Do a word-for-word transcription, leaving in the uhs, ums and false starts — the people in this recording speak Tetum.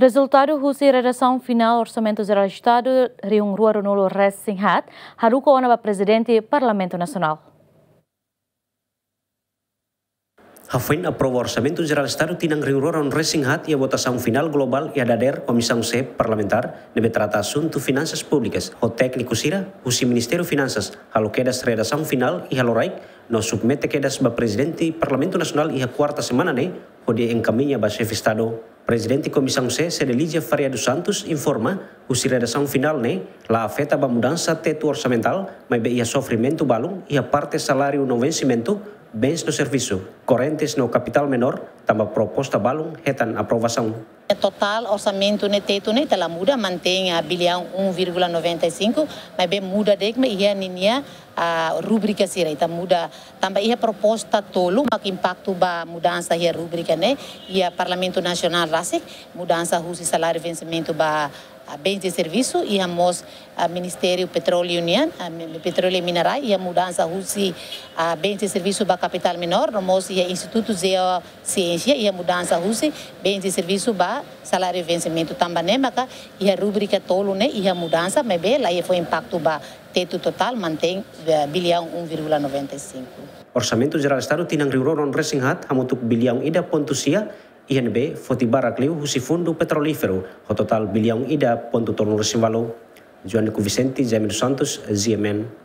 Rezultadu husi redasaun finál Orsamentu Jerál Estadu rihun rua ruanulu-resin-haat haruka ona ba Prezidente Parlamentu Nasionál. Hafoin aprova Orsamentu Jerál Estadu tinan rihun rua ruanulu-resin-haat iha votasaun finál globál iha dadeer Komisaun C Parlamentár ne'ebé trata asuntu finansas públikas ho tékniku sira husi Ministériu Finansas halo kedas redasaun finál iha loraik no submete kedas ba Prezidente Parlamentu Nasionál iha kuarta semana ne'e hodi enkamiña ba Xefe Estadu. Prezidente Komisaun C, Cedelizia Faria dos Santos, informa, husi redasaun finál ne'e la afeta ba mudansa tetu orsamentál, maibé iha sofrimentu balun iha parte saláriu no vensimentu, bens no servisu, korrentes no kapitál menór, tanba proposta balun hetan aprovasaun. Totál orsamentu ne'e, tetu ne'e, ita la muda, mantein, ah, biliaun um vírgula noventa e cinco, maibé muda de'it mak iha ninia, ah, rúbrika sira, ita muda tanba iha proposta tolu mak impaktu ba mudansa iha rúbrika ne'e, iha Parlamentu Nasionál rasik, mudansa husi saláriu vensimentu ba, ah, bens de servisu, iha mós, ah, Ministériu Petróleu nian, ah, mi-, Petróleu i Minerais, iha mudansa husi, ah, bens de servisu ba kapitál menór, no mós iha Institutu Jeosiénsia, iha mudansa husi bens de servisu ba saláriu vensimentu. Tanba ne'e maka iha rúbrika tolu ne'e iha mudansa, maibé la iha fó impaktu ba tetu, totál mantein, eh, biliaun um vírgula noventa e cinco. Orsamentu Jerál Estadu tinan rihun rua ruanulu-resin-haat hamutuk biliaun ida pontu sia, iha ne'ebé foti barak liu husi Fundu Petrolíferu, ho totál biliaun ida pontu tolunulu-resin-ualu. Joanico Vicente, Jaime dos Santos, G M N.